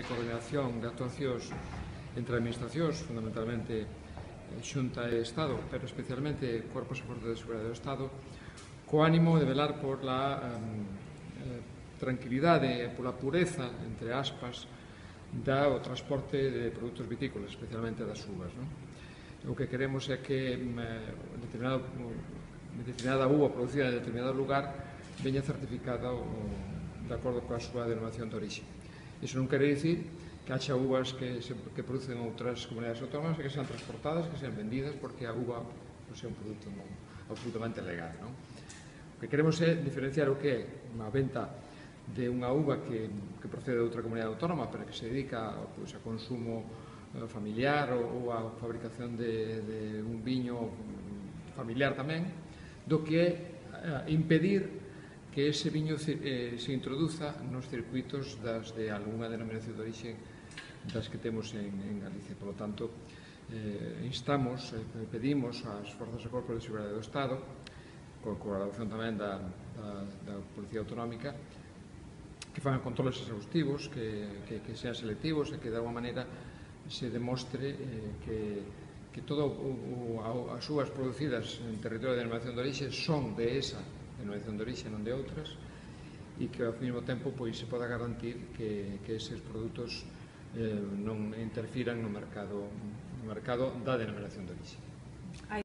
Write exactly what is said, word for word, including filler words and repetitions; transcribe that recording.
de coordinación de actuacións entre administracións, fundamentalmente Xunta e Estado, pero especialmente Corpos e Forzas de Seguridade do Estado, co ánimo de velar por la eh, tranquilidade e pola pureza, entre aspas, do transporte de produtos vitícolas, especialmente das uvas. Non? O que queremos é que determinado, determinada uva producida en determinado lugar veña certificada o, de acordo coa súa denominación de orixe. Iso non quere dicir que haxa uvas que, se, que producen outras comunidades autónomas e que sean transportadas, que sean vendidas, porque a uva non sea un produto non, absolutamente legal. Non? O que queremos é diferenciar o que é unha venta de unha uva que, que procede de outra comunidade autónoma, pero que se dedica pois, a consumo familiar ou, ou a fabricación de, de un viño familiar tamén, do que é impedir que ese viño eh, se introduza nos circuitos das de algunha denominación de orixe das que temos en, en Galicia. Por lo tanto, eh, instamos, eh, pedimos ás Forzas e Corpos de Seguridade do Estado, con colaboración tamén da, da, da Policía Autonómica, que fan controles exhaustivos, que, que, que sean selectivos e que de alguma maneira se demostre eh, que, que todas as uvas producidas en territorio de denominación de orixe son de esa denominación de orixe, non de outras, e que ao mesmo tempo pois, se poda garantir que, que eses produtos eh, non interfiran no mercado, no mercado da denominación de orixe.